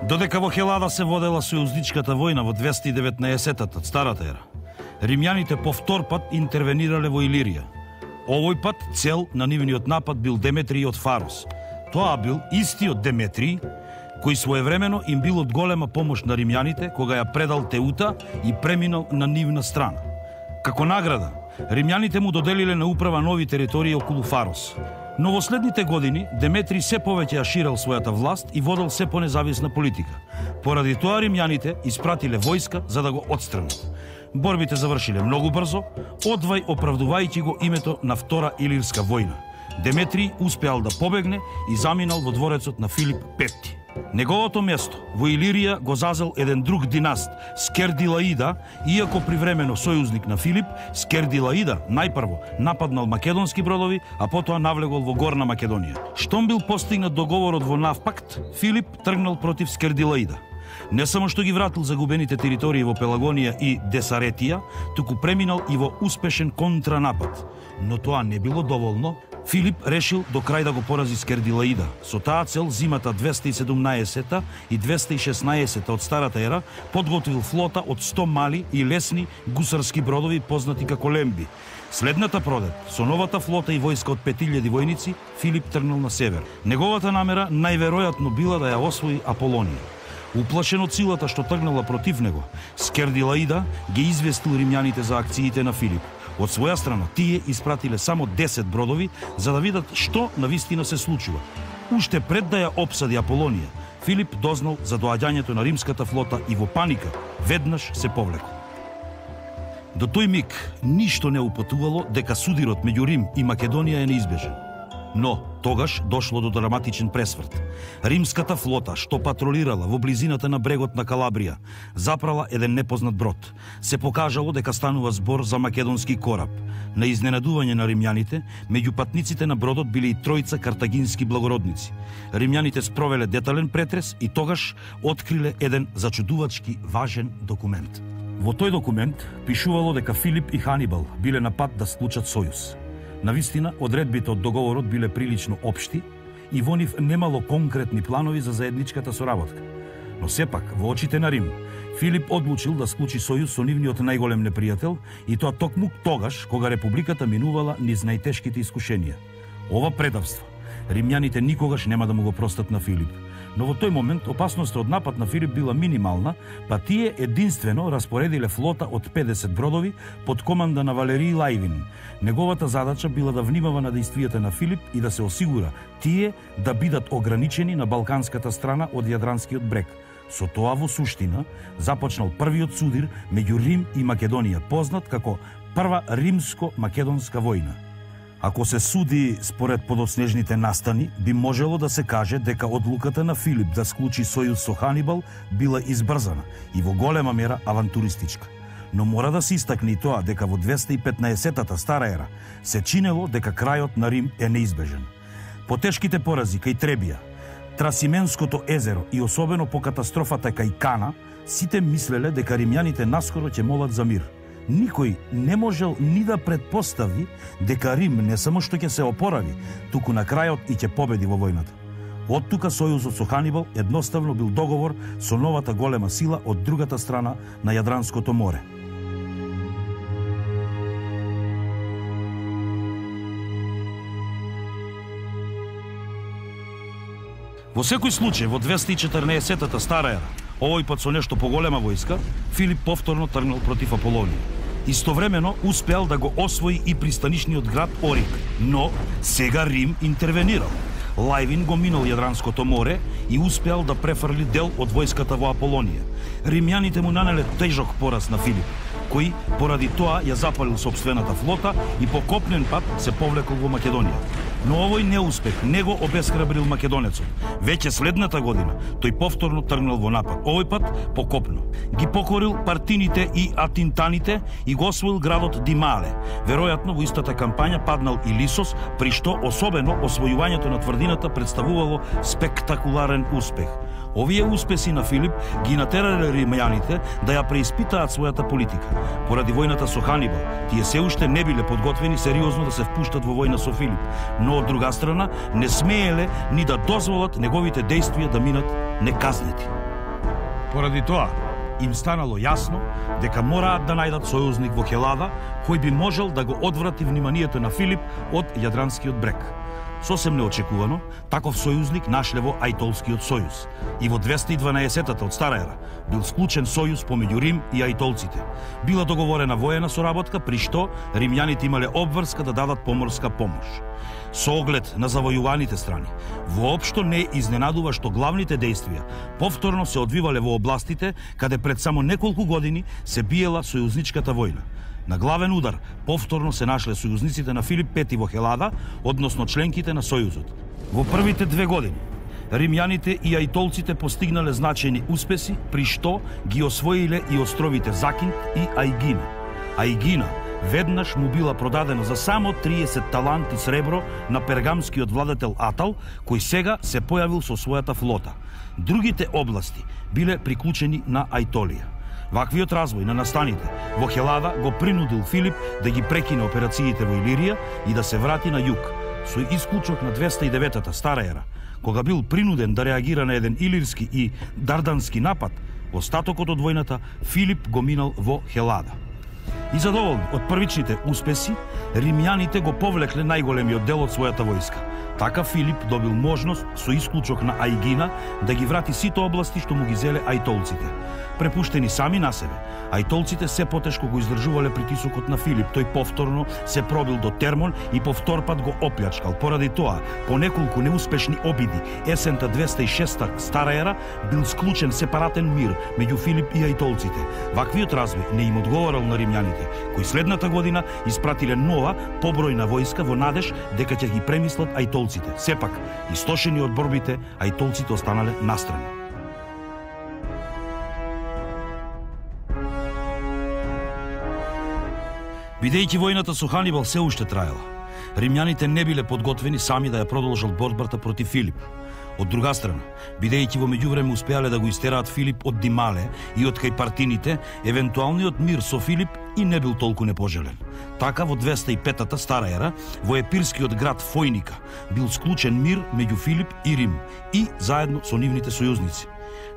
Додека во Хелада се водела сојузничката војна во 219-тата старата ера, римјаните повтор пат интервенирале во Илирија. Овој пат цел на нивниот напад бил Деметрий од Фарос. Тоа бил истиот Деметрий кој своевремено им бил од голема помош на римјаните кога ја предал Теута и преминал на нивна страна. Како награда, римјаните му доделиле на управа нови територии околу Фарос. Но во следните години Деметрий се повеќе ја ширел својата власт и водел се понезависна политика. Поради тоа римјаните испратиле војска за да го отстранат. Борбите завршиле многу брзо, одвај оправдувајќи го името на Втора Илирска војна. Деметрий успеал да побегне и заминал во дворецот на Филип Петти. Неговото место во Илирија го зазел еден друг династ, Скердилаида, иако привремено сојузник на Филип, Скердилаида најпрво нападнал македонски бродови, а потоа навлегол во Горна Македонија. Штом бил постигнат договорот во Навпакт, Филип тргнал против Скердилаида. Не само што ги вратил загубените територии во Пелагонија и Десаретија, туку преминал и во успешен контранапад. Но тоа не било доволно. Филип решил до крај да го порази Скердилаида. Со таа цел зимата 217 и 216 од старата ера подготвил флота од 100 мали и лесни гусарски бродови познати како лемби. Следната пролет, со новата флота и војска од 5000 војници, Филип тргнал на север. Неговата намера најверојатно била да ја освои Аполонија. Уплашен од силата што тргнала против него, Скердилаида ги известил римјаните за акциите на Филип. Од своја страна, тие испратиле само 10 бродови за да видат што навистина се случува. Уште пред да ја опсади Аполонија, Филип дознал за доаѓањето на римската флота и во паника веднаш се повлекол. До тој миг ништо не упатувало дека судирот меѓу Рим и Македонија е неизбежен. Но тогаш дошло до драматичен пресврт. Римската флота, што патролирала во близината на брегот на Калабрија, запрала еден непознат брод. Се покажало дека станува збор за македонски кораб. На изненадување на римјаните, меѓу патниците на бродот биле и тројца картагински благородници. Римјаните спровеле детален претрес и тогаш откриле еден зачудувачки важен документ. Во тој документ пишувало дека Филип и Ханибал биле на пат да склучат сојуз. Навистина, одредбите од договорот биле прилично општи и во нив немало конкретни планови за заедничката соработка. Но сепак, во очите на Рим, Филип одлучил да склучи сојуз со нивниот најголем непријател и тоа токму тогаш кога републиката минувала низ најтешките искушенија. Ова предавство римјаните никогаш нема да му го простат на Филип. Но во тој момент опасноста од напад на Филип била минимална, па тие единствено распоредиле флота од 50 бродови под команда на Валерий Лајвин. Неговата задача била да внимава на действијата на Филип и да се осигура тие да бидат ограничени на балканската страна од Јадранскиот брег. Со тоа во суштина започнал првиот судир меѓу Рим и Македонија, познат како Прва римско-македонска војна. Ако се суди според подоснежните настани, би можело да се каже дека одлуката на Филип да склучи сојуз со Ханибал била избрзана и во голема мера авантуристичка. Но мора да се истакне и тоа дека во 215-тата стара ера се чинело дека крајот на Рим е неизбежен. По тешките порази кај Требија, Трасименското езеро и особено по катастрофата кај Кана, сите мислеле дека римјаните наскоро ќе молат за мир. Никој не можел ни да предпостави дека Рим не само што ќе се опорави, туку на крајот и ќе победи во војната. Од тука сојузот со Ханибал едноставно бил договор со новата голема сила од другата страна на Јадранското море. Во секој случај, во 214-тата стара ера, овој пат со нешто поголема војска, Филип повторно тргнал против Аполонија. Истовремено успеал да го освои и пристанишниот град Орик, но сега Рим интервенирал. Лајвин го минал Јадранското море и успеал да префрли дел од војската во Аполонија. Римјаните му нанеле тежок пораз на Филип, кој поради тоа ја запалил сопствената флота и по копнен пат се повлекол во Македонија. Но овој неуспех не го обесхрабрил македонецот. Веќе следната година тој повторно тргнал во напад, овој пат по копно. Ги покорил партините и атинтаните и го освоил градот Димале. Веројатно во истата кампања паднал и Лисос, при што особено освојувањето на тврдината представувало спектакуларен успех. Овие успеси на Филип ги натерале римјаните да ја преиспитаат својата политика. Поради војната со Ханибал, тие се уште не биле подготвени сериозно да се впуштат во војна со Филип, но од друга страна не смееле ни да дозволат неговите действија да минат неказнети. Поради тоа, им станало јасно дека мораат да најдат сојузник во Хелада кој би можел да го одврати вниманието на Филип од Јадранскиот брег. Сосем неочекувано, таков сојузник нашле во Ајтолскиот сојуз и во 212-та од Стара ера бил склучен сојуз помеѓу Рим и ајтолците. Била договорена воена соработка при што римјаните имале обврска да дадат поморска помош. Со оглед на завојуваните страни, воопшто не изненадува што главните дејствија повторно се одвивале во областите каде пред само неколку години се биела сојузничката војна. На главен удар повторно се нашле сојузниците на Филип V во Хелада, односно членките на Сојузот. Во првите 2 години, римјаните и ајтолците постигнале значајни успеси, при што ги освоиле и островите Закинт и Ајгина. Ајгина веднаш му била продадена за само 30 таланти сребро на пергамскиот владетел Атал, кој сега се појавил со својата флота. Другите области биле приклучени на Ајтолија. Ваквиот развој на настаните во Хелада го принудил Филип да ги прекине операциите во Илирија и да се врати на југ. Со исклучок на 209-та Стара ера, кога бил принуден да реагира на еден илирски и дардански напад, остатокот од војната Филип го минал во Хелада. И задоволни од првичните успеси, римјаните го повлекле најголемиот дел од својата војска. Така Филип добил можност со исклучок на Ајгина да ги врати сите области што му ги зеле ајтолците. Препуштени сами на себе, ајтолците се потешко го издржувале притисокот на Филип. Тој повторно се пробил до Термон и повторпат го оплячкал. Поради тоа, по неколку неуспешни обиди, есента 206 Стара ера бил склучен сепаратен мир меѓу Филип и ајтолците. Ваквиот развој не им одговорал на римјаните, кои следната година испратиле нова, побројна војска во надеж дека ќе ги премислат ајтолците. Сепак, истошени од борбите, ајтолците останале настрани. Бидејќи војната со Ханибал се уште траела, римјаните не биле подготвени сами да ја продолжат борбата против Филип. Од друга страна, бидејќи во меѓувреме успеале да го истераат Филип од Димале и од кај партините, евентуалниот мир со Филип и не бил толку непожелен. Така во 205-та Стара ера, во епирскиот град Фојника, бил склучен мир меѓу Филип и Рим и заедно со нивните сојузници.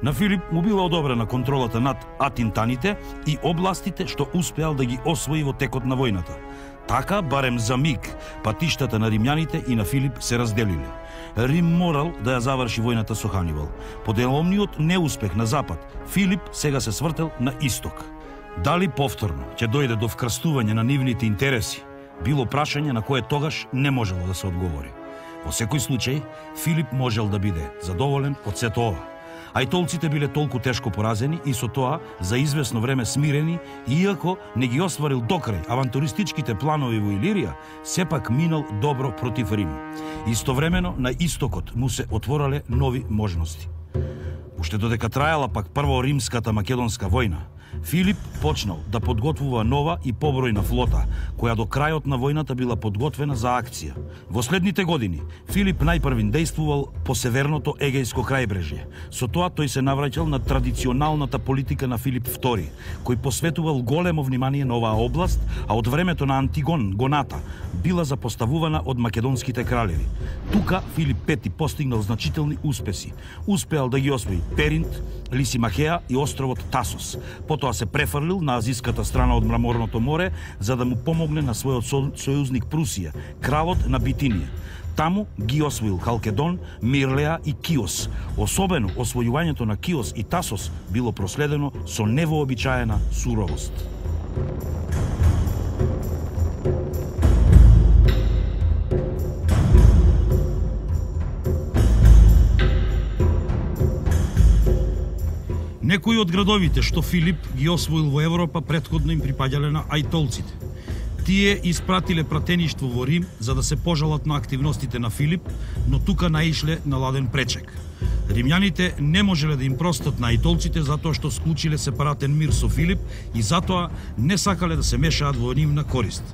На Филип му била одобрена контролата над атинтаните и областите што успеал да ги освои во текот на војната. Така, барем за миг, патиштата на римјаните и на Филип се разделиле. Рим морал да ја заврши војната со Ханибал. По деломниот неуспех на запад, Филип сега се свртел на исток. Дали повторно ќе дојде до вкрстување на нивните интереси, било прашање на кое тогаш не можело да се одговори. Во секој случај, Филип можел да биде задоволен од сето ова. Ајтолците биле толку тешко поразени и со тоа за извесно време смирени, иако не ги остварил докрај авантуристичките планови во Илирија, сепак минал добро против Рим. Истовремено на истокот му се отворале нови можности. Уште додека траела пак прво римската македонска војна, Филип почнал да подготвува нова и побројна флота, која до крајот на војната била подготвена за акција. Во следните години, Филип најпрвин дејствувал по северното Егејско крајбрежје. Со тоа тој се навраќал на традиционалната политика на Филип II, кој посветувал големо внимание на оваа област, а од времето на Антигон, Гоната, била запоставувана од македонските кралеви. Тука Филип V постигнал значителни успеси. Успеал да ги освои Перинт, Лисимахеа и островот Тасос. Потоа се префрлил на азиската страна од Мраморното море за да му помогне на својот сојузник Прусија, кралот на Битинија. Таму ги освоил Халкедон, Мирлеа и Киос. Особено освојувањето на Киос и Тасос било проследено со невообичаена суровост. Некои од градовите што Филип ги освоил во Европа претходно им припаѓале на ајтолците. Тие испратиле пратеништво во Рим за да се пожалат на активностите на Филип, но тука наишле на ладен пречек. Римјаните не можеле да им простат на ајтолците затоа што склучиле сепаратен мир со Филип и затоа не сакале да се мешаат во нивна корист.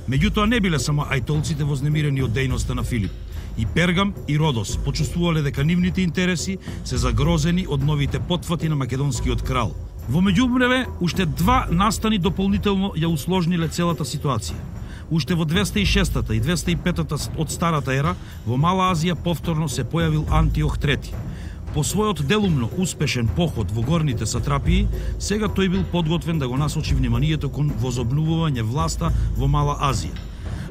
Меѓутоа не биле само ајтолците вознемирени од дејноста на Филип. И Пергам и Родос почувствувале дека нивните интереси се загрозени од новите потфати на македонскиот крал. Во меѓувреме, уште два настани дополнително ја усложниле целата ситуација. Уште во 206-та и 205-та од Старата ера, во Мала Азија повторно се појавил Антиох III. По својот делумно успешен поход во горните сатрапии, сега тој бил подготвен да го насочи вниманието кон возобновување власта во Мала Азија.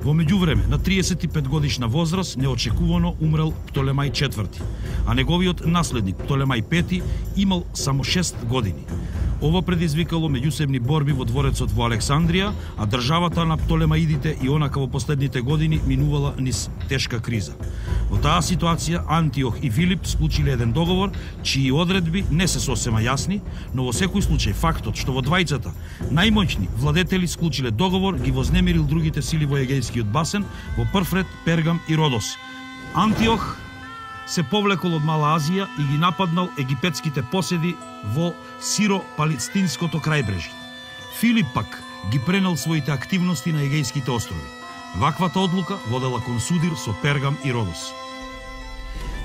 Во меѓувреме, на 35 годишна возраст, неочекувано умрел Птолемај IV, а неговиот наследник Птолемај V имал само 6 години. Ова предизвикало меѓусебни борби во дворецот во Александрија, а државата на Птолемаидите и онака во последните години минувала низ тешка криза. Во таа ситуација Антиох и Филип склучиле еден договор, чии одредби не се сосема јасни, но во секој случај фактот што во двајцата најмоćни владетели склучиле договор ги вознемирил другите сили во Егејскиот басен, во прв ред Пергам и Родос. Антиох се повлекол од Мала Азија и ги нападнал египетските поседи во Сиро-Палестинското крајбрежје. Филип пак ги пренел своите активности на Егејските острови. Ваквата одлука водела кон судир со Пергам и Родос.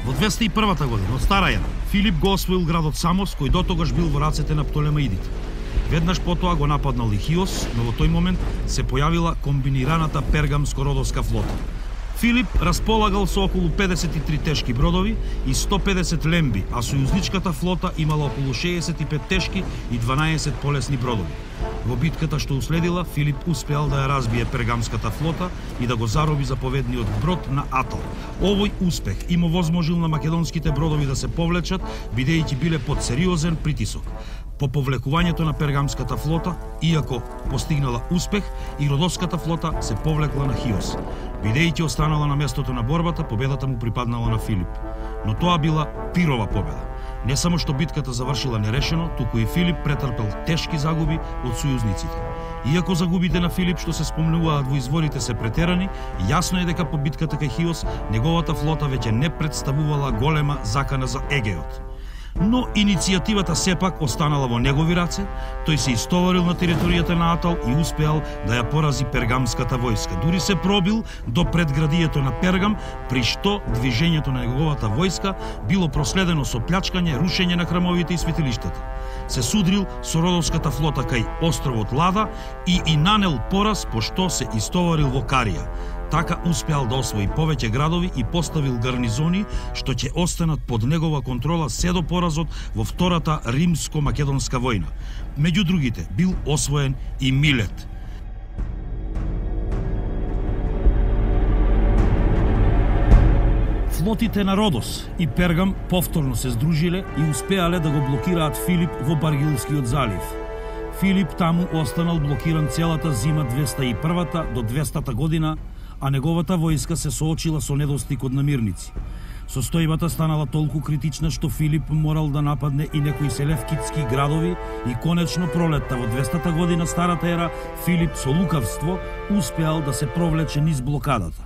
Во 201 година од стара ера, Филип го освоил градот Самос, кој дотогаш бил во рацете на Птолемаидите. Веднаш потоа го нападнал и Хиос, но во тој момент се појавила комбинираната пергамско-родоска флота. Филип располагал со околу 53 тешки бродови и 150 лемби, а сојузничката флота имала околу 65 тешки и 12 полесни бродови. Во битката што уследила, Филип успеал да ја разбие пергамската флота и да го зароби заповедниот брод на Атал. Овој успех им овозможил на македонските бродови да се повлечат, бидејќи биле под сериозен притисок. По повлекувањето на пергамската флота, иако постигнала успех, и родоската флота се повлекла на Хиос. Бидејќи останала на местото на борбата, победата му припаднала на Филип. Но тоа била пирова победа. Не само што битката завршила нерешено, туку и Филип претрпел тешки загуби од сојузниците. Иако загубите на Филип што се спомнуваат во изворите се претерани, јасно е дека по битката кај Хиос неговата флота веќе не представувала голема закана за Егеот. Но иницијативата сепак останала во негови раце, тој се истоварил на територијата на Атал и успеал да ја порази пергамската војска. Дури се пробил до предградието на Пергам, при што движењето на неговата војска било проследено со плячкање, рушење на храмовите и светилиштата. Се судрил со родовската флота кај островот Лада и нанел пораз по што се истоварил во Карија. Така успеал да освои повеќе градови и поставил гарнизони што ќе останат под негова контрола се до поразот во Втората римско-македонска војна. Меѓу другите бил освоен и Милет. Флотите на Родос и Пергам повторно се здружиле и успеале да го блокираат Филип во Баргилскиот залив. Филип таму останал блокиран целата зима 201 до 200 година, а неговата војска се соочила со недостиг од намирници. Состојбата станала толку критична што Филип морал да нападне и некои селевкитски градови и конечно пролетта во 200 година старата ера Филип со лукавство успеал да се провлече низ блокадата.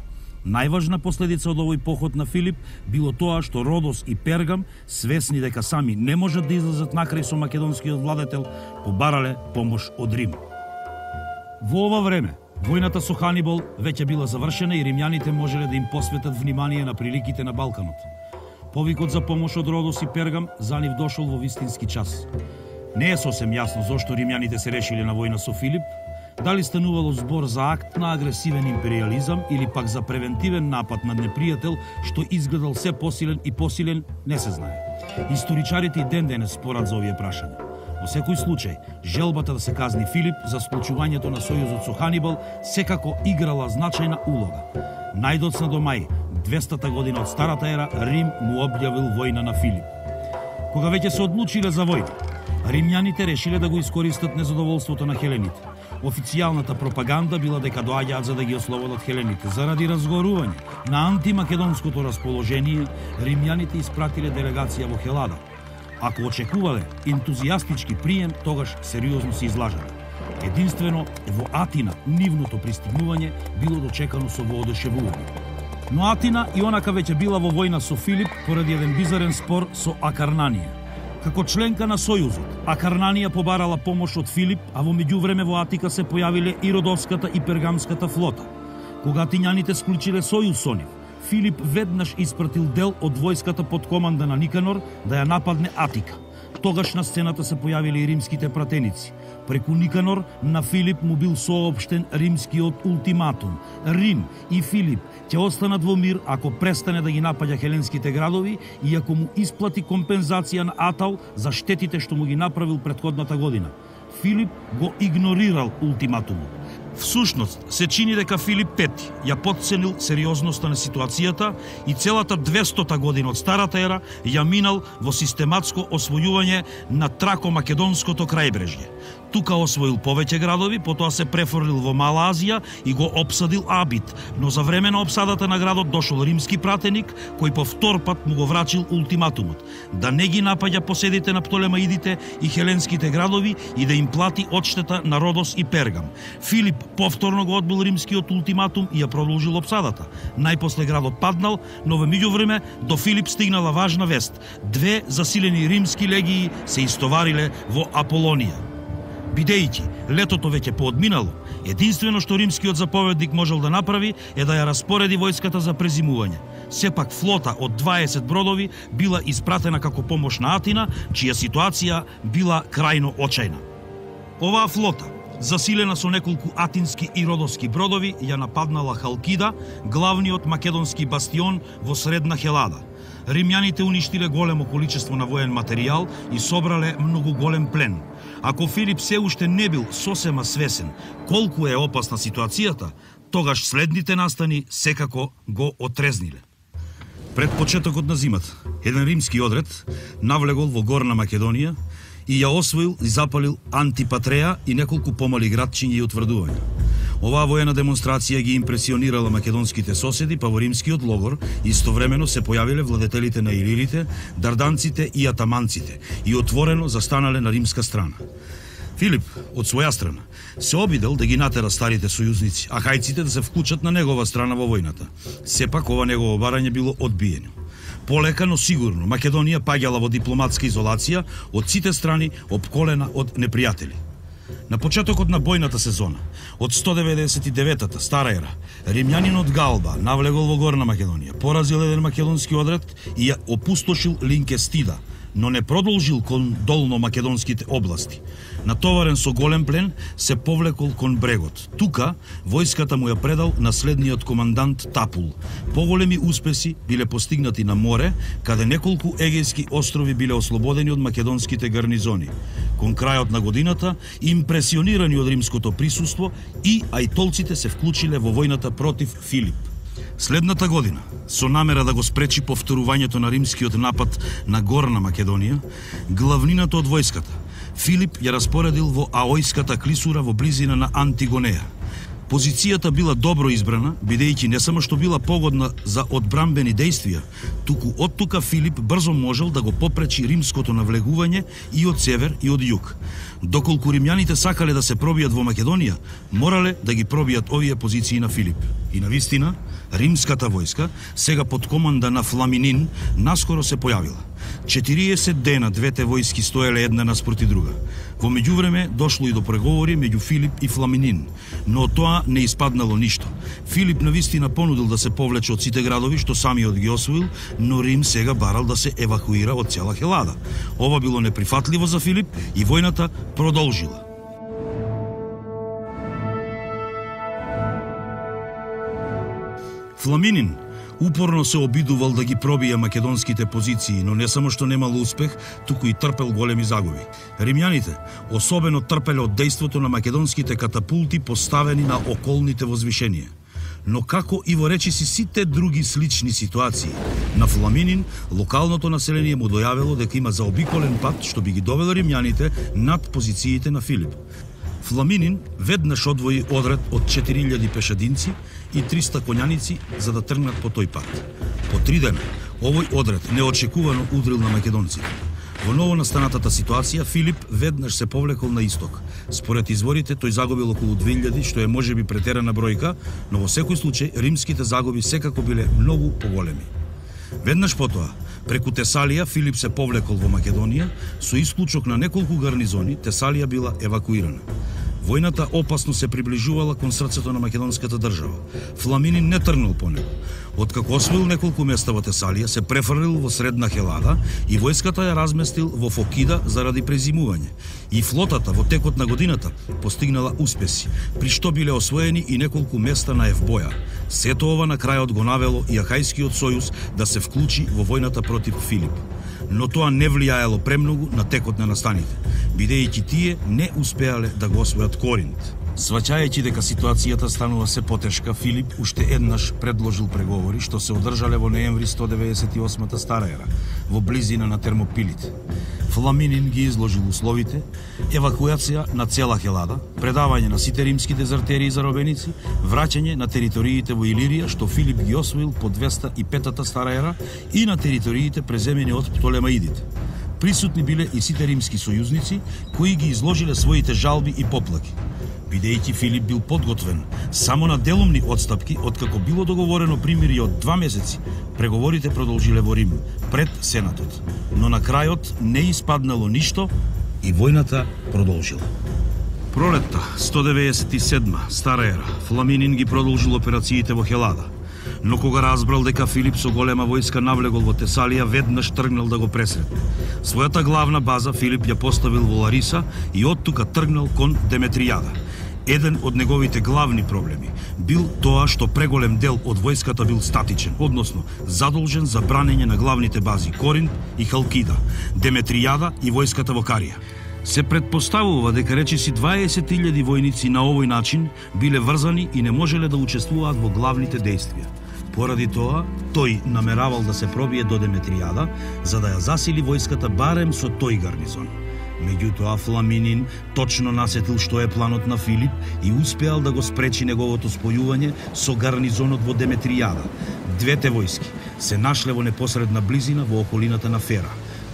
Најважна последица од овој поход на Филип било тоа што Родос и Пергам, свесни дека сами не можат да излезат накрај со македонскиот владетел, побарале помош од Рим. Во ова време, војната со Ханибал веќе била завршена и римјаните можеле да им посветат внимание на приликите на Балканот. Повикот за помош од Родос и Пергам за нив дошол во вистински час. Не е сосем јасно зошто римјаните се решиле на војна со Филип, дали станувало збор за акт на агресивен империализам или пак за превентивен напад над непријател што изгледал се посилен и посилен, не се знае. Историчарите и ден денес спорат за овие прашања. Во секој случај, желбата да се казни Филип за склучувањето на сојузот со Ханибал секако играла значајна улога. Најдоцна до мај, 200 година од старата ера, Рим му објавил војна на Филип. Кога веќе се одлучиле за војна, римјаните решиле да го искористат незадоволството на хелените. Официјалната пропаганда била дека доаѓаат за да ги ослободат хелените. Заради разгорување на антимакедонското расположение, римјаните испратиле делегација во Хелада. Ако очекувале ентузијастички прием, тогаш сериозно се излажале. Единствено во Атина нивното пристигнување било дочекано со воодушевување. Но Атина и онака веќе била во војна со Филип поради еден бизарен спор со Акарнанија. Како членка на Сојузот, Акарнанија побарала помош од Филип, а во меѓувреме во Атика се појавиле и Родовската и Пергамската флота. Кога атињаните склучиле сојуз со нив, Филип веднаш испратил дел од војската под команда на Никанор да ја нападне Атика. Тогаш на сцената се појавиле и римските пратеници. Преку Никанор на Филип му бил соопштен римскиот ултиматум. Рим и Филип ќе останат во мир ако престане да ги напаѓа хеленските градови и ако му исплати компензација на Атал за штетите што му ги направил претходната година. Филип го игнорирал ултиматумот. Всушност, се чини дека Филип V ја потценил сериозноста на ситуацијата и целата 200-та година од Старата ера ја минал во систематско освојување на Трако-македонското крајбрежје. Тука освоил повеќе градови, потоа се префрлил во Мала Азија и го опсадил Абит, но за време на опсадата на градот дошол римски пратеник кој по втор пат му го врачил ултиматумот да не ги напаѓа поседите на Птолемаидите и хеленските градови и да им плати одштета на Родос и Пергам. Филип повторно го одбил римскиот ултиматум и ја продолжил опсадата. Најпосле градот паднал, но во меѓувреме до Филип стигнала важна вест. 2 засилени римски легии се истовариле во Аполонија. Бидејќи летото веќе поодминало, единствено што римскиот заповедник можел да направи е да ја распореди војската за презимување. Сепак флота од 20 бродови била испратена како помош на Атина, чија ситуација била крајно очајна. Оваа флота, засилена со неколку атински и родоски бродови, ја нападнала Халкида, главниот македонски бастион во средна Хелада. Римјаните уништиле големо количество на воен материјал и собрале многу голем плен. Ако Филип се уште не бил сосема свесен колку е опасна ситуацијата, тогаш следните настани секако го отрезниле. Пред почетокот на зимата, еден римски одред навлегол во Горна Македонија и ја освоил и запалил Антипатреја и неколку помали градчиња и утврдувања. Оваа воена демонстрација ги импресионирала македонските соседи, па во римскиот логор истовремено се појавиле владетелите на илирите, дарданците и атаманците и отворено застанале на римска страна. Филип, од своја страна, се обидел да ги натера старите сојузници, а хајците да се вклучат на негова страна во војната. Сепак ова негово барање било одбиено. Полека, но сигурно, Македонија паѓала во дипломатска изолација од сите страни, опколена од непријатели. На почетокот на бојната сезона, од 199-та Стара ера, римјанинот Галба навлегол во Горна Македонија, поразил еден македонски одред и ја опустошил Линкестида, но не продолжил кон долно македонските области. Натоварен со голем плен, се повлекол кон брегот. Тука, војската му ја предал наследниот командант Тапул. Поголеми успеси биле постигнати на море, каде неколку егејски острови биле ослободени од македонските гарнизони. Кон крајот на годината, импресионирани од римското присуство, и ајтолците се вклучиле во војната против Филип. Следната година, со намера да го спречи повторувањето на римскиот напад на Горна Македонија, главнината од војската, Филип ја распоредил во Аојската клисура во близина на Антигонеја. Позицијата била добро избрана, бидејќи не само што била погодна за одбрамбени действија, туку од тука Филип брзо можел да го попречи римското навлегување и од север и од југ. Доколку римјаните сакале да се пробијат во Македонија, морале да ги пробијат овие позиции на Филип. И навистина, римската војска, сега под команда на Фламинин, наскоро се појавила. 40 дена двете војски стоеле една наспроти друга. Во меѓувреме дошло и до преговори меѓу Филип и Фламинин, но од тоа не испаднало ништо. Филип навистина понудил да се повлече од сите градови што самиот ги освоил, но Рим сега барал да се евакуира од цела Хелада. Ова било неприфатливо за Филип и војната продолжила. Фламинин упорно се обидувал да ги пробија македонските позиции, но не само што немал успех, туку и трпел големи загуби. Римјаните особено трпеле од дејството на македонските катапулти поставени на околните возвишенија. Но како и во речиси сите други слични ситуации, на Фламинин локалното население му дојавило дека има заобиколен пат што би ги довело римјаните над позициите на Филип. Фламинин веднаш одвои одред од 4000 пешадинци и 300 коњаници за да тргнат по тој пат. По 3 дена, овој одред неочекувано удрил на македонците. Во новонастанатата ситуација, Филип веднаш се повлекол на исток. Според изворите, тој загубил околу 2000, што е можеби претерана бројка, но во секој случај римските загуби секако биле многу поголеми. Веднаш потоа, преку Тесалија, Филип се повлекол во Македонија, со исклучок на неколку гарнизони, Тесалија била евакуирана. Војната опасно се приближувала кон срцето на македонската држава. Фламинин не тргнал по него. Откако освоил неколку места во Тесалија, се префрлил во средна Хелада и војската ја разместил во Фокида заради презимување. И флотата во текот на годината постигнала успеси, при што биле освоени и неколку места на Евбоја. Сето ова на крајот го навело и Ахајскиот сојуз да се вклучи во војната против Филип. Но тоа не влијаело премногу на текот на настаните, бидејќи тие не успеале да го освојат Коринт. Сваќајќи дека ситуацијата станува се потешка, Филип уште еднаш предложил преговори што се одржале во ноември 198 стара ера, во близина на Термопилите. Фламинин ги изложил условите: евакуација на цела Хелада, предавање на сите римски дезертери и заробеници, враќање на териториите во Илирија што Филип ги освоил по 205 стара ера и на териториите преземени од Птолемаидите. Присутни биле и сите римски сојузници кои ги изложиле своите жалби и поплаки. Бидејќи Филип бил подготвен само на делумни отстапки, откако било договорено примирие од 2 месеци, преговорите продолжиле во Рим, пред Сенатот. Но на крајот не испаднало ништо и војната продолжила. Пролетта 197 стара ера, Фламинин ги продолжил операциите во Хелада. Но кога разбрал дека Филип со голема војска навлегол во Тесалија, веднаш тргнал да го пресретне. Својата главна база Филип ја поставил во Лариса и оттука тргнал кон Деметријада. Еден од неговите главни проблеми бил тоа што преголем дел од војската бил статичен, односно задолжен за бранење на главните бази Коринт и Халкида, Деметријада и војската во Карија. Се предпоставува дека речиси 20.000 војници на овој начин биле врзани и не можеле да учествуваат во главните дејствија. Поради тоа, тој намеравал да се пробие до Деметријада, за да ја засили војската барем со тој гарнизон. Меѓутоа, Фламинин точно насетил што е планот на Филип и успеал да го спречи неговото спојување со гарнизонот во Деметријада. Двете војски се нашле во непосредна близина во околината на Фера.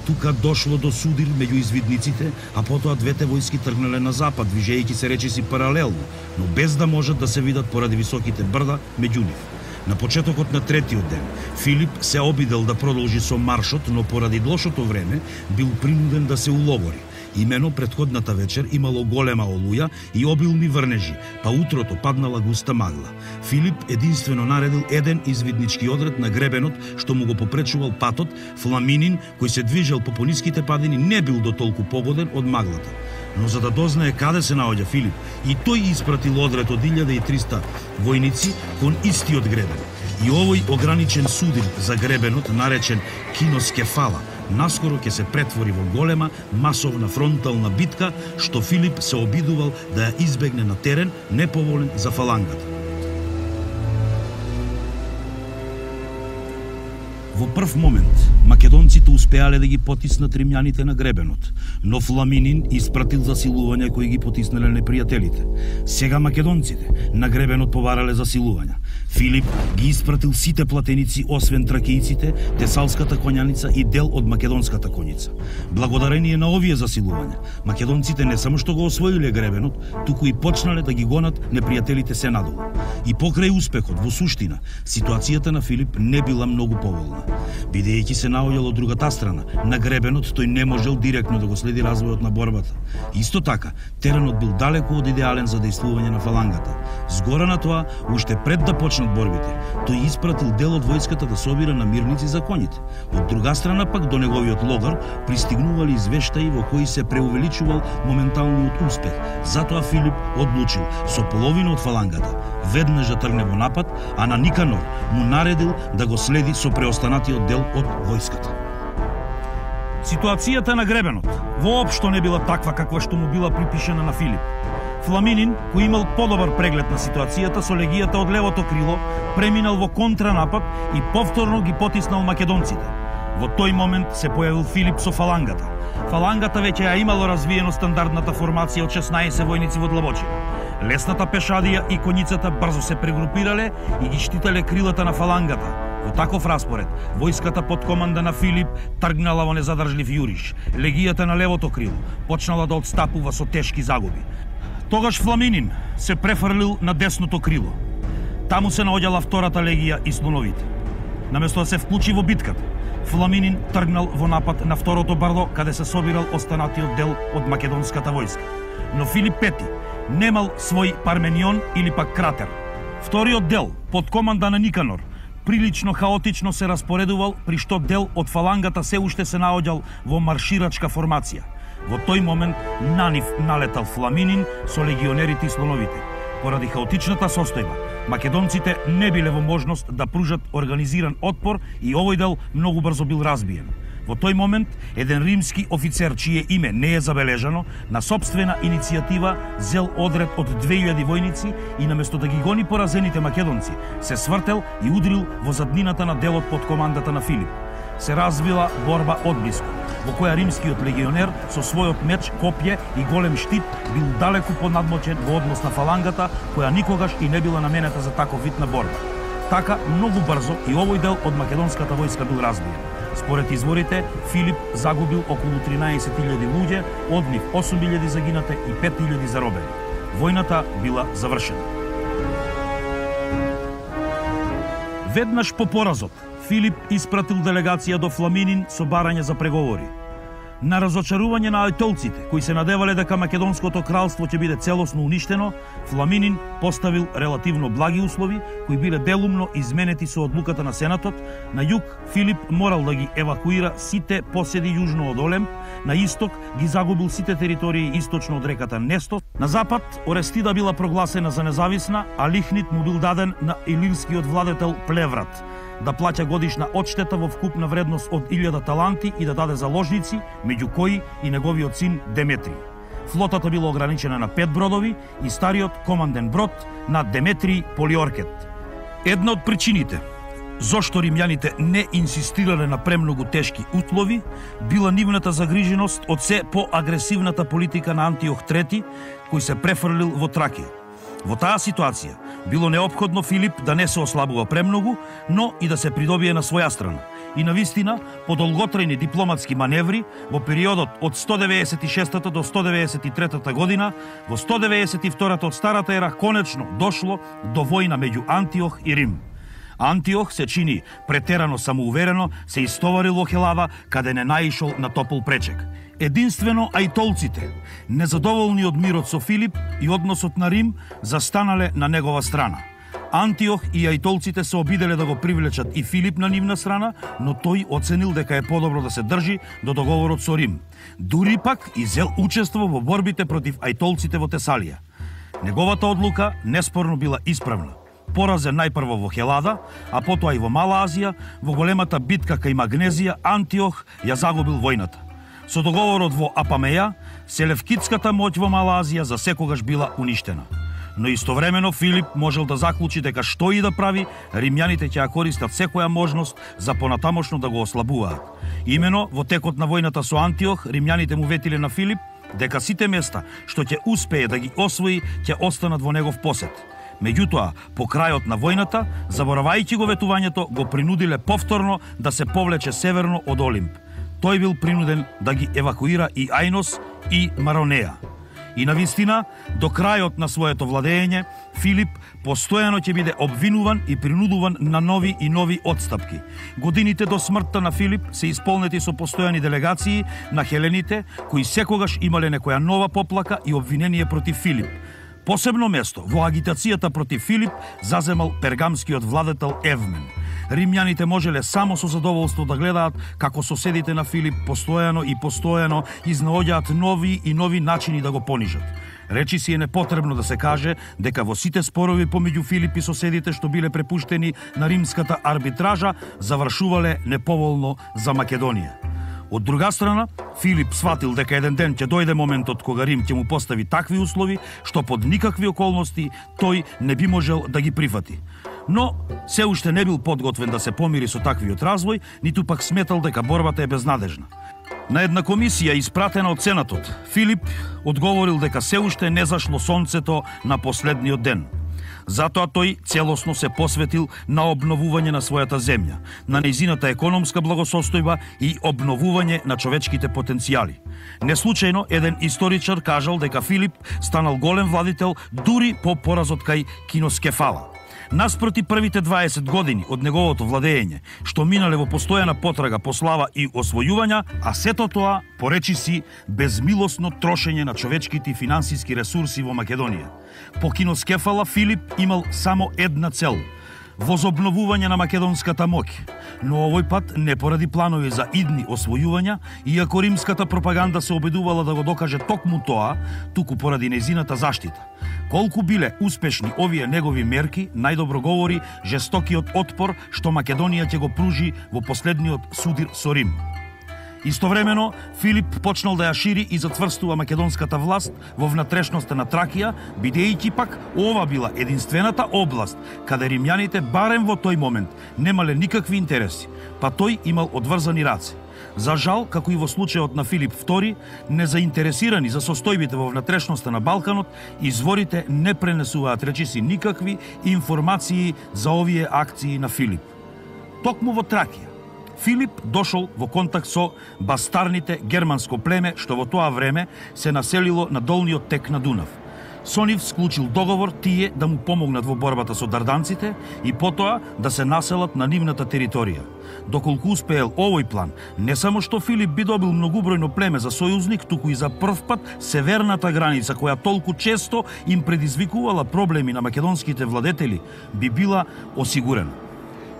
Тука дошло до судир меѓу извидниците, а потоа двете војски тргнале на запад, движејќи се речиси паралелно, но без да можат да се видат поради високите брда меѓу нив. На почетокот на третиот ден, Филип се обидел да продолжи со маршот, но поради лошото време бил принуден да се улогори. Имено претходната вечер имало голема олуја и обилни врнежи, па утрото паднала густа магла. Филип единствено наредил еден извиднички одред на гребенот што му го попречувал патот. Фламинин, кој се движел по пониските падини, не бил до толку погоден од маглата. Но за да дознае каде се наоѓа Филип, и тој испратил одред од 1300 војници кон истиот гребен. И овој ограничен судир за гребенот, наречен Киноскефала, наскоро ќе се претвори во голема масовна фронтална битка, што Филип се обидувал да ја избегне на терен неповолен за фалангата. Во прв момент, македонците успеале да ги потиснат римјаните на гребенот, но Фламинин испратил засилувања кои ги потиснале непријателите. Сега македонците на гребенот побарале засилувања. Филип ги испратил сите платеници, освен тракијците, тесалската коњаница и дел од македонската коњица. Благодарение на овие засилувања, македонците не само што го освоиле гребенот, туку и почнале да ги гонат непријателите се надолу. И покрај успехот, во суштина, ситуацијата на Филип не била многу поволна. Бидејќи се наоѓал од другата страна, на гребенот, тој не можел директно да го следи развојот на борбата. Исто така, теренот бил далеку од идеален за дејствување на фалангата. Згора на тоа, уште пред да почнат борбите, тој испратил дел од војската да собира намирници за коњите. Од друга страна пак, до неговиот логар пристигнували извештаи во кои се преувеличувал моменталниот успех. Затоа Филип одлучил со половина од фалангата веднаш да тргне во напад, а на Никанор му наредил да го следи со преостанатиот дел од војската. Ситуацијата на гребенот воопшто не била таква каква што му била припишена на Филип. Фламинин, кој имал подобар преглед на ситуацијата, со легијата од левото крило преминал во контранапад и повторно ги потиснал македонците. Во тој момент се појавил Филип со фалангата. Фалангата веќе ја имало развиено стандардната формација од 16 војници во длабочина. Лесната пешадија и коњицата брзо се прегрупирале и ги штитале крилата на фалангата. Во таков распоред, војската под команда на Филип тргнала во незадржлив јуриш. Легијата на левото крило почнала да отстапува со тешки загуби. Тогаш Фламинин се префрлил на десното крило. Таму се наоѓала втората легија и слоновите. Наместо да се вклучи во битката, Фламинин тргнал во напад на второто бардо, каде се собирал останатиот дел од македонската војска. Но Филип Пети немал свој Парменион или пак кратер. Вториот дел, под команда на Никанор, прилично хаотично се распоредувал, при што дел од фалангата се уште се наоѓал во марширачка формација. Во тој момент на нив налетал Фламинин со легионерите и слоновите. Поради хаотичната состојба, македонците не биле во можност да пружат организиран отпор и овој дел многу брзо бил разбиен. Во тој момент, еден римски офицер, чие име не е забележано, на собствена иницијатива зел одред од 2000 војници и наместо да ги гони поразените македонци, се свртел и удрил во заднината на делот под командата на Филип. Се развила борба одблиску, во која римскиот легионер со својот меч, копје и голем штит бил далеку понадмочен во однос на фалангата, која никогаш и не била наменета за таков вид на борба. Така, многу брзо и овој дел од македонската војска бил разбиен. Според изворите, Филип загубил околу 13.000 луѓе, од нив 8.000 загинате и 5.000 заробени. Војната била завршена. Веднаш по поразот, Филип испратил делегација до Фламинин со барање за преговори. На разочарување на ајтолците, кои се надевале дека македонското кралство ќе биде целосно уништено, Фламинин поставил релативно благи услови, кои биле делумно изменети со одлуката на Сенатот. На југ Филип морал да ги евакуира сите поседи јужно од Олемп, на исток ги загубил сите територии источно од реката Нестос, на запад Орестида била прогласена за независна, а Лихнит му бил даден на илирскиот владетел Плеврат да плаќа годишна одштета во вкупна вредност од 1000 таланти и да даде заложници, меѓу кои и неговиот син Деметрий. Флотата била ограничена на 5 бродови и стариот команден брод на Деметрий Полиоркет. Една од причините зошто римјаните не инсистирале на премногу тешки услови била нивната загриженост од се поагресивната политика на Антиох III, кој се префрлил во Тракија. Во таа ситуација било неопходно Филип да не се ослабува премногу, но и да се придобие на своја страна. И навистина, по долготрајни дипломатски маневри, во периодот од 196 до 193 година, во 192 од старата ера конечно дошло до војна меѓу Антиох и Рим. Антиох се чини претерано самоуверено, се истоварил во Хелава, каде не наишол на топол пречек. Единствено ајтолците, незадоволни од мирот со Филип и односот на Рим, застанале на негова страна. Антиох и ајтолците се обиделе да го привлечат и Филип на нивна страна, но тој оценил дека е подобро да се држи до договорот со Рим. Дури пак и зел учество во борбите против ајтолците во Тесалија. Неговата одлука неспорно била исправна. Поразен најпрво во Хелада, а потоа и во Мала Азија, во големата битка кај Магнезија, Антиох ја загубил војната. Со договорот во Апамеја, селевкитската моќ во Мала Азија за секогаш била уништена. Но истовремено Филип можел да заклучи дека што и да прави, римјаните ќе ја користат секоја можност за понатамошно да го ослабуваат. Имено во текот на војната со Антиох, римјаните му ветиле на Филип дека сите места што ќе успее да ги освои, ќе останат во негов посет. Меѓутоа, по крајот на војната, заборавајќи го ветувањето, го принудиле повторно да се повлече северно од Олимп. Тој бил принуден да ги евакуира и Ајнос и Маронеја. И навистина, до крајот на своето владење, Филип постојано ќе биде обвинуван и принудуван на нови и нови отстапки. Годините до смртта на Филип се исполнети со постојани делегации на хелените, кои секогаш имале некоја нова поплака и обвинение против Филип. Посебно место во агитацијата против Филип заземал пергамскиот владетел Евмен. Римјаните можеле само со задоволство да гледаат како соседите на Филип постојано изнаоѓаат нови и нови начини да го понижат. Речи си е непотребно да се каже дека во сите спорови помеѓу Филип и соседите што биле препуштени на римската арбитража завршувале неповолно за Македонија. Од друга страна, Филип сватил дека еден ден ќе дојде моментот кога Рим ќе му постави такви услови што под никакви околности тој не би можел да ги прифати. Но се уште не бил подготвен да се помири со таквиот развој, ниту пак сметал дека борбата е безнадежна. На една комисија испратена од Сенатот, Филип одговорил дека се уште не зашло сонцето на последниот ден. Затоа тој целосно се посветил на обновување на својата земја, на нејзината економска благосостојба и обновување на човечките потенцијали. Неслучајно еден историчар кажал дека Филип станал голем владител дури по поразот кај Киноскефала. Наспроти првите 20 години од неговото владење, што минале во постојана потрага по слава и освојувања, а сето тоа поречиси безмилосно трошење на човечките и финансиски ресурси во Македонија. По киноскефала Филип имал само една цел – возобновување на македонската моќ, но овој пат не поради планови за идни освојувања, иако римската пропаганда се обидувала да го докаже токму тоа, туку поради нејзината заштита. Колку биле успешни овие негови мерки, најдобро говори жестокиот отпор што Македонија ќе го пружи во последниот судир со Рим. Истовремено, Филип почнал да ја шири и затврстува македонската власт во внатрешноста на Тракија, бидејќи пак ова била единствената област каде римјаните барем во тој момент немале никакви интереси, па тој имал одврзани раце. За жал, како и во случајот на Филип II, незаинтересирани за состојбите во внатрешноста на Балканот, изворите не пренесуваат речиси никакви информации за овие акции на Филип. Токму во Тракија, Филип дошол во контакт со бастарните германско племе што во тоа време се населило на долниот тек на Дунав. Со нив склучил договор тие да му помогнат во борбата со дарданците и потоа да се населат на нивната територија. Доколку успеел овој план, не само што Филип би добил многубројно племе за сојузник, туку и за прв пат северната граница, која толку често им предизвикувала проблеми на македонските владетели, би била осигурена.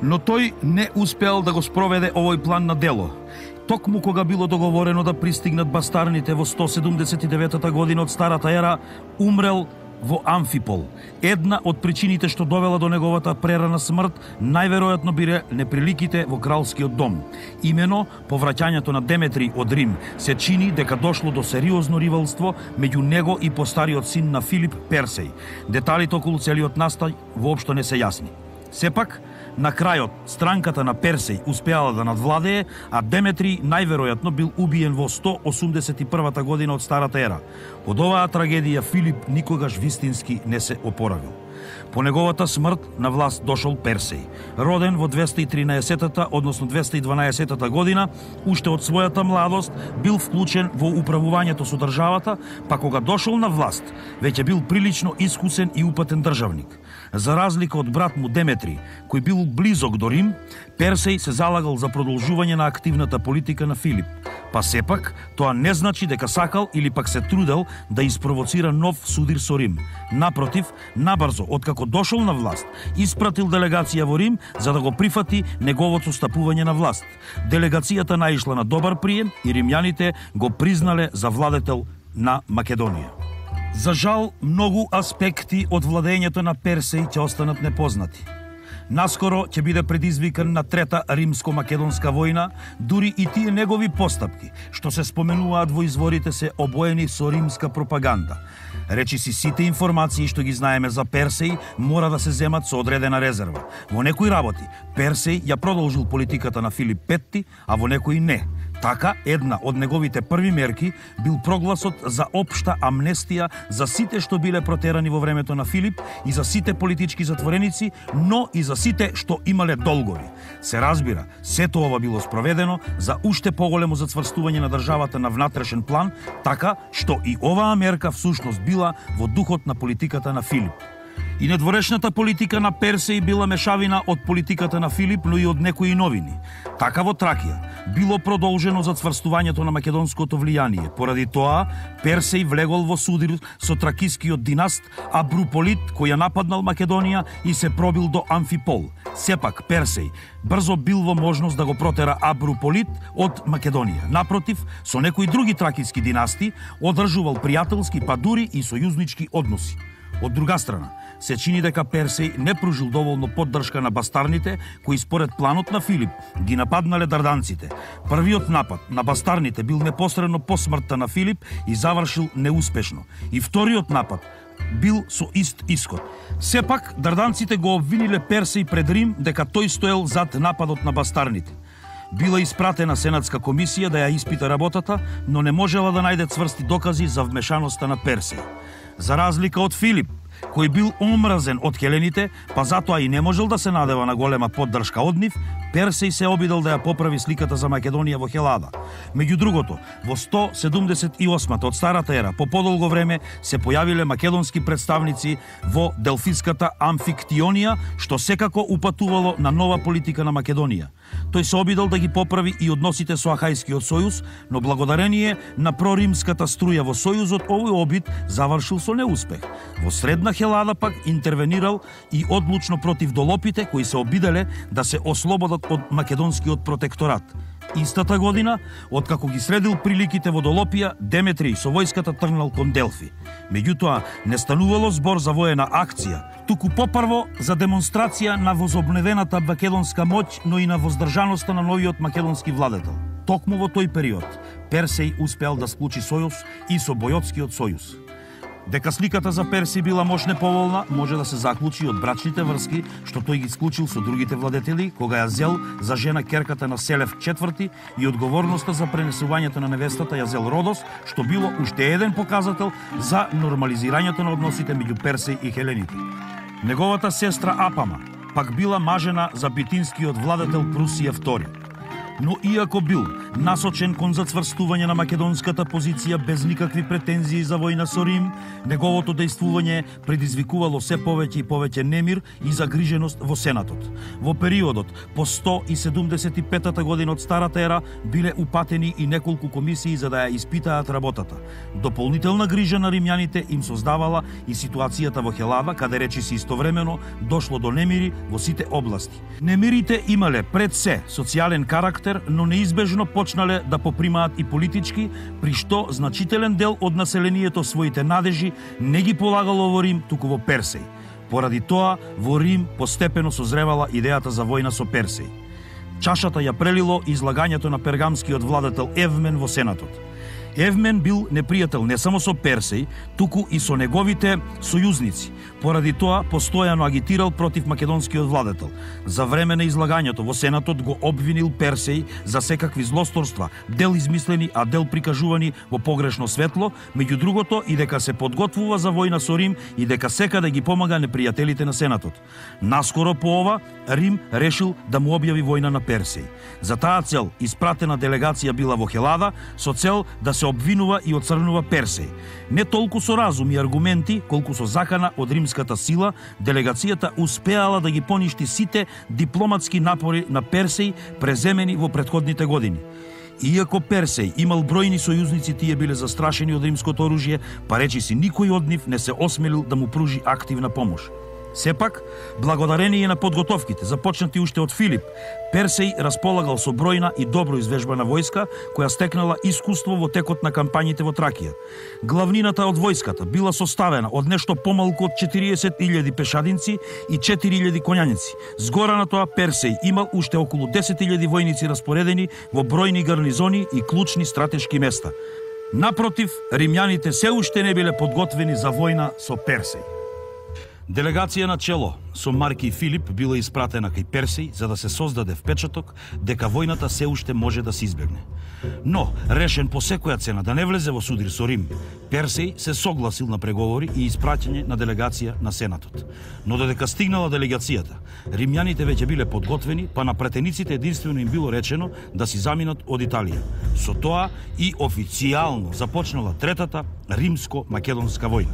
Но тој не успеал да го спроведе овој план на дело. Токму кога било договорено да пристигнат бастарните во 179 година од Старата ера, умрел во Амфипол. Една од причините што довела до неговата прерана смрт, најверојатно биле неприликите во кралскиот дом. Имено, повраќањето на Деметрий од Рим се чини дека дошло до сериозно ривалство меѓу него и постариот син на Филип Персеј. Деталите околу целиот настај воопшто не се јасни. Сепак, на крајот, странката на Персеј успеала да надвладее, а Деметрий најверојатно бил убиен во 181 година од Старата ера. Од оваа трагедија Филип никогаш вистински не се опоравил. По неговата смрт на власт дошол Персеј. Роден во 213-та, односно 212-та година, уште од својата младост бил вклучен во управувањето со државата, па кога дошол на власт, веќе бил прилично искусен и упатен државник. За разлика од брат му Деметрий, кој бил близок до Рим, Персеј се залагал за продолжување на активната политика на Филип. Па сепак, тоа не значи дека сакал или пак се трудел да испровоцира нов судир со Рим. Напротив, набрзо, откако дошол на власт, испратил делегација во Рим за да го прифати неговото стапување на власт. Делегацијата наишла на добар прием и римјаните го признале за владетел на Македонија. За жал, многу аспекти од владењето на Персеј ќе останат непознати. Наскоро ќе биде предизвикан на Трета римско-македонска војна, дури и тие негови постапки, што се споменуваат во изворите, се обоени со римска пропаганда. Речиси сите информации што ги знаеме за Персеј мора да се земат со одредена резерва. Во некои работи Персеј ја продолжил политиката на Филип V, а во некои не. Така, една од неговите први мерки бил прогласот за општа амнестија за сите што биле протерани во времето на Филип и за сите политички затвореници, но и за сите што имале долгови. Се разбира, сето ова било спроведено за уште поголемо зацврстување на државата на внатрешен план, така што и оваа мерка всушност била во духот на политиката на Филип. И недворешната политика на Персеј била мешавина од политиката на Филип, но и од некои новини. Така во Тракија било продолжено зацврстувањето на македонското влијание. Поради тоа, Персеј влегол во судир со тракискиот династ Абруполит, кој ја нападнал Македонија и се пробил до Амфипол. Сепак, Персеј брзо бил во можност да го протера Абруполит од Македонија. Напротив, со некои други тракиски династи одржувал пријателски, па дури и сојузнички односи. Од друга страна, се чини дека Персеј не пружил доволно поддршка на бастарните, кои според планот на Филип ги нападнале дарданците. Првиот напад на бастарните бил непосредно по смртта на Филип и завршил неуспешно. И вториот напад бил со ист исход. Сепак, дарданците го обвиниле Персеј пред Рим дека тој стоел зад нападот на бастарните. Била испратена сенатска комисија да ја испита работата, но не можела да најде цврсти докази за вмешаноста на Персеј. За разлика од Филип, кој бил омразен од хелените, па затоа и не можел да се надева на голема поддршка од нив, Персеј се обидел да ја поправи сликата за Македонија во Хелада. Меѓу другото, во 178 од старата ера, по подолго време се појавиле македонски представници во Делфиската Амфиктионија, што секако упатувало на нова политика на Македонија. Тој се обидел да ги поправи и односите со Ахајскиот сојуз, но благодарение на проримската струја во сојузот, овој обид завршил со неуспех. Во средна Хелада пак интервенирал и одлучно против долопите кои се обиделе да се ослободат од македонскиот протекторат. Истата година, откако ги средил приликите во Долопија, Деметриј со војската тргнал кон Делфи. Меѓутоа, не станувало збор за воена акција, туку попрво за демонстрација на возобновената македонска моќ, но и на воздржаноста на новиот македонски владетел. Токму во тој период, Персеј успеал да склучи сојуз и со Бојотскиот сојуз. Дека сликата за Персеј била мош неповолна, може да се заклучи од брачните врски што тој ги склучил со другите владетели, кога ја зел за жена керката на Селев IV и одговорноста за пренесувањето на невестата ја зел Родос, што било уште еден показател за нормализирањето на односите меѓу Персеј и хелените. Неговата сестра Апама пак била мажена за битинскиот владетел Прусија II. Но иако бил насочен кон зацврстување на македонската позиција без никакви претензии за војна со Рим, неговото дејствување предизвикувало се повеќе и повеќе немир и загриженост во Сенатот. Во периодот по 175 година од старата ера биле упатени и неколку комисии за да ја испитаат работата. Дополнителна грижа на римјаните им создавала и ситуацијата во Хелада, каде речиси истовремено дошло до немири во сите области. Немирите имале пред се социјален карактер, но неизбежно почнале да попримаат и политички, при што значителен дел од населението своите надежи не ги полагало во Рим, туку во Персеј. Поради тоа, во Рим постепено созревала идејата за војна со Персеј. Чашата ја прелило излагањето на пергамскиот владетел Евмен во Сенатот. Евмен бил непријател не само со Персеј, туку и со неговите сојузници. Поради тоа, постојано агитирал против македонскиот владетел. За време на излагањето во Сенатот го обвинил Персеј за секакви злосторства, дел измислени, а дел прикажувани во погрешно светло, меѓу другото и дека се подготвува за војна со Рим и дека секаде ги помага непријателите на Сенатот. Наскоро по ова, Рим решил да му објави војна на Персеј. За таа цел испратена делегација била во Хелада со цел да се обвинува и оцрнува Персеј. Не толку со разум и аргументи, колку со закана од римската сила, делегацијата успеала да ги поништи сите дипломатски напори на Персеј преземени во претходните години. Иако Персеј имал бројни сојузници, тие биле застрашени од римското оружје, па речиси никој од нив не се осмелил да му пружи активна помош. Сепак, благодарение на подготовките започнати уште од Филип, Персеј располагал со бројна и добро извежбана војска, која стекнала искуство во текот на кампањите во Тракија. Главнината од војската била составена од нешто помалку од 40.000 пешадинци и 4.000 коњаници. Згора на тоа, Персеј имал уште околу 10.000 војници распоредени во бројни гарнизони и клучни стратешки места. Напротив, римјаните се уште не биле подготвени за војна со Персеј. Делегација на чело со Марки Филип била испратена кај Персеј за да се создаде впечаток дека војната се уште може да се избегне. Но, решен по секоја цена да не влезе во судир со Рим, Персеј се согласил на преговори и испраќање на делегација на Сенатот. Но додека стигнала делегацијата, римјаните веќе биле подготвени, па на претениците единствено им било речено да си заминат од Италија. Со тоа и официјално започнала третата римско-македонска војна.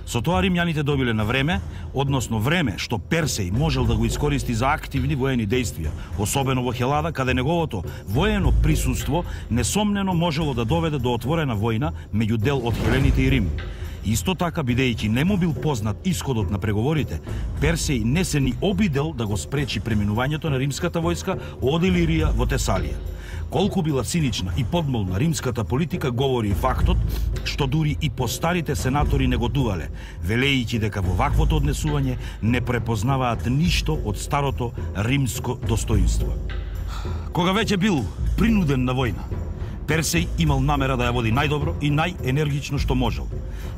Со тоа римјаните добиле на време, односно време што Персеј можел да го искористи за активни воени дејствија, особено во Хелада, каде неговото воено присуство несомнено можело да доведе до отворена војна меѓу дел од хелените и Рим. Исто така, бидејќи не му бил познат исходот на преговорите, Персеј не се ни обидел да го спречи преминувањето на римската војска од Илирија во Тесалија. Колку била цинична и подмолна римската политика говори и фактот што дури и постарите сенатори негодувале, велејќи дека во ваквото однесување не препознаваат ништо од старото римско достоинство. Кога веќе бил принуден на војна, Персеј имал намера да ја води најдобро и најенергично што можел.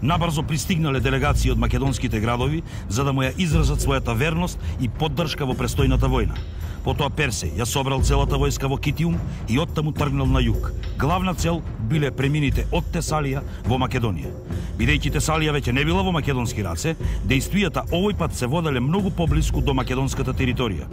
Набрзо пристигнале делегации од македонските градови за да му ја изразат својата верност и поддршка во престојната војна. Потоа Персеј ја собрал целата војска во Китиум и оттаму тргнал на југ. Главна цел биле премините од Тесалија во Македонија. Бидејќи Тесалија веќе не била во македонски раце, дејствијата овој пат се воделе многу поблиску до македонската територија.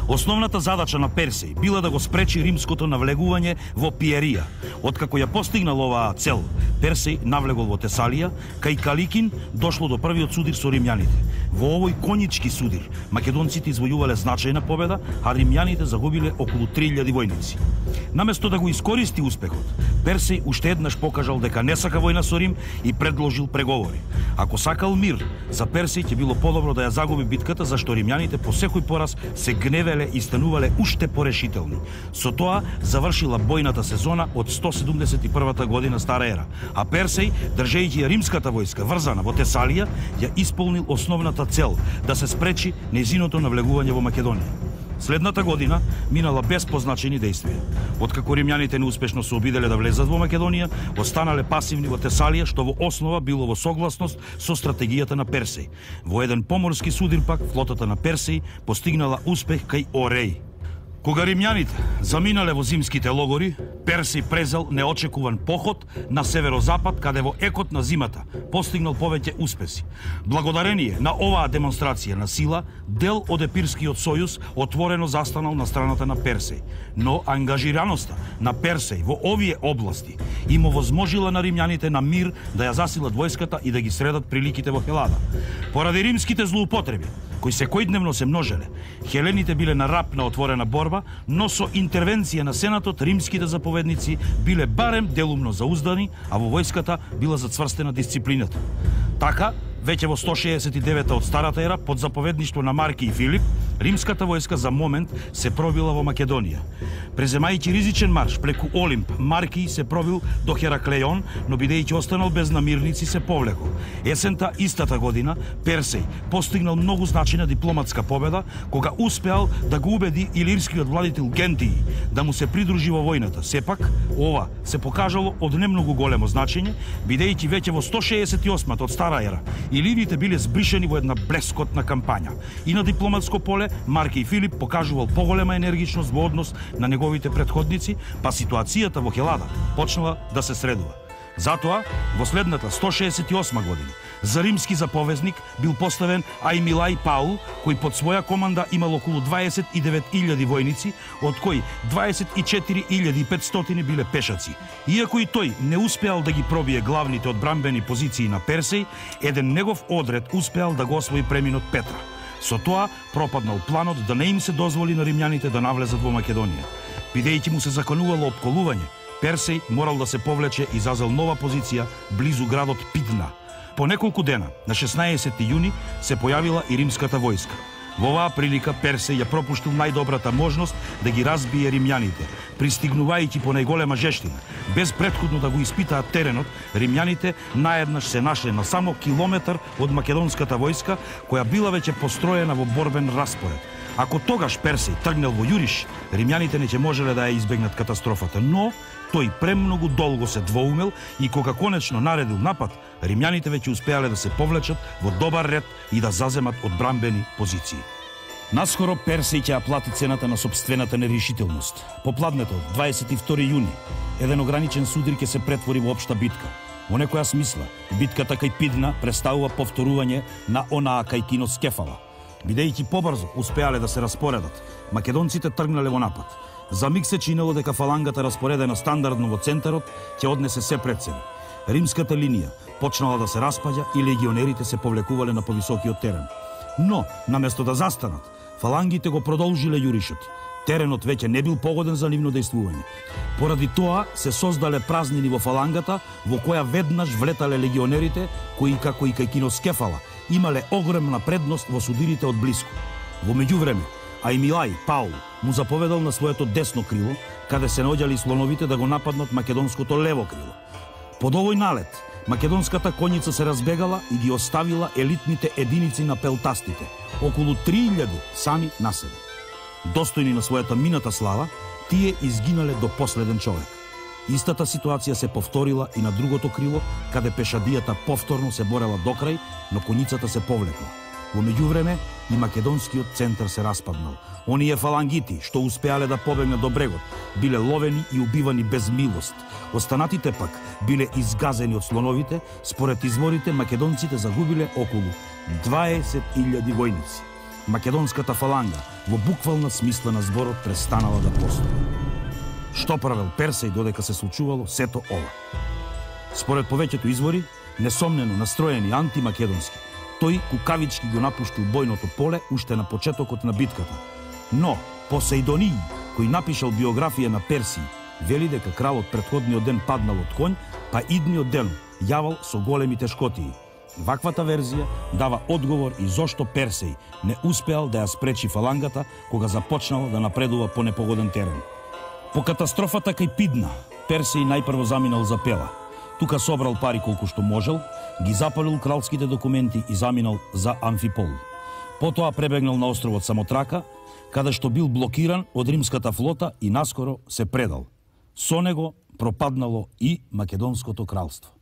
Основната задача на Персеј била да го спречи римското навлегување во Пиерија. Откако ја постигнал оваа цел, Персеј навлегол во Тесалија, кај Каликин дошло до првиот судир со римјаните. Во овој конички судир македонците извојувале значајна победа, а римјаните загубиле околу 3000 војници. Наместо да го искористи успехот, Персеј уште еднаш покажал дека не сака војна со Рим и предложил преговори. Ако сакал мир, за Персеј ќе било подобро да ја загуби битката, зашто римјаните по секој пораз се гневеле и станувале уште порешителни. Со тоа завршила бојната сезона од 171 година стара ера, а Персеј, држејќи ја римската војска врзана во Тесалија, ја исполнил основната цел да се спречи нејзиното навлегување во Македонија. Следната година минала без позначени дејствија. Откако римјаните неуспешно се обиделе да влезат во Македонија, останале пасивни во Тесалија, што во основа било во согласност со стратегијата на Персеј. Во еден поморски судир пак флотата на Персеј постигнала успех кај Ореј. Кога римјаните заминале во зимските логори, Персеј презел неочекуван поход на северозапад, каде во екот на зимата постигнал повеќе успеси. Благодарение на оваа демонстрација на сила, дел од Епирскиот сојуз отворено застанал на страната на Персеј. Но ангажираноста на Персеј во овие области им овозможила на римјаните на мир да ја засилат војската и да ги средат приликите во Хелада. Поради римските злоупотреби, кои секојдневно се множеле, хелените биле на рап на отворена борба, но со интервенција на Сенатот римските заповедници биле барем делумно зауздани, а во војската била зацврстена дисциплината. Така, веќе во 169 од старата ера, под заповедништво на Марки и Филип, римската војска за момент се пробила во Македонија. Преземајќи ризичен марш преку Олимп, Марки се пробил до Хераклеон, но бидејќи останал без намирници се повлекол. Есента истата година Персеј постигнал многу значајна дипломатска победа, кога успеал да го убеди илирскиот владител Гентии да му се придружи во војната. Сепак, ова се покажало од немногу големо значење, бидејќи веќе во 168 од стара ера илирите биле збришени во една блескотна кампања. И на дипломатско поле Марки и Филип покажувал поголема енергичност во однос на неговите претходници, па ситуацијата во Хелада почнала да се средува. Затоа, во следната 168 година, за римски заповезник бил поставен Ајмилај Паул, кој под своја команда имал околу 29.000 војници, од кои 24.500 биле пешаци. Иако и тој не успеал да ги пробие главните одбранбени позиции на Персеј, еден негов одред успеал да го освои преминот Петра. Со тоа пропаднал планот да не им се дозволи на римјаните да навлезат во Македонија. Бидејќи му се заканувало опколување, Персеј морал да се повлече и зазел нова позиција близу градот Пидна. По неколку дена, на 16 јуни, се појавила и римската војска. Во оваа прилика Персеј ја пропуштил најдобрата можност да ги разбие римјаните, пристигнувајќи по најголема жештина. Без претходно да го испитаат теренот, римјаните наеднаш се нашле на само километар од македонската војска, која била веќе построена во борбен распоред. Ако тогаш Персеј тргнал во јуриш, римјаните не ќе можеле да ја избегнат катастрофата, но тој премногу долго се двоумел и кога конечно наредил напад, римјаните веќе успеале да се повлечат во добар ред и да заземат одбранбени позиции. Наскоро Персеј ќе ја плати цената на собствената нерешителност. Попладнето, 22 јуни, еден ограничен судир ќе се претвори во општа битка. Во некоја смисла, битката кај Пидна представува повторување на онаа кај Киноскефала. Бидејќи побрзо успеале да се распоредат, македонците тргнале во напад. За миг се чинело дека фалангата распоредена стандардно во центарот ќе однесе се пред себе. Римската линија почнала да се распаѓа и легионерите се повлекувале на повисокиот терен. Но, наместо да застанат, фалангите го продолжиле јуришот. Теренот веќе не бил погоден за нивно дејствување. Поради тоа се создале празнини во фалангата, во која веднаш влетале легионерите, кои како и кај Киноскефала имале огромна предност во судирите од блиску. Во меѓувреме, Ајмилај Паул му заповедал на своето десно крило, каде се наоѓали слоновите, да го нападнат македонското лево крило. Под овој налет, македонската коњица се разбегала и ги оставила елитните единици на пелтастите, околу 3000 сами на себе. Достојни на својата мината слава, тие изгинале до последен човек. Истата ситуација се повторила и на другото крило, каде пешадијата повторно се борела до крај, но коњицата се повлекла. Во меѓувреме и македонскиот центар се распаднал. Оние фалангити што успеале да побегнат до брегот биле ловени и убивани без милост. Останатите пак биле изгазени од слоновите. Според изворите македонците загубиле околу 20.000 војници. Македонската фаланга во буквална смисла на зборот престанала да постои. Што правел Персеј додека се случувало сето ова? Според повеќето извори, несомнено настроени антимакедонски, тој кукавички го напуштил бојното поле уште на почетокот на битката. Но Посејдонија, кој напишал биографија на Персија, вели дека кралот претходниот ден паднал од конј, па идниот ден јавал со големи тешкотии. Ваквата верзија дава одговор и зошто Персеј не успеал да ја спречи фалангата кога започнал да напредува по непогоден терен. По катастрофата кај Пидна, Персеј најпрво заминал за Пела. Тука собрал пари колку што можел, ги запалил кралските документи и заминал за Амфипол. Потоа пребегнал на островот Самотрака, каде што бил блокиран од римската флота и наскоро се предал. Со него пропаднало и Македонското кралство.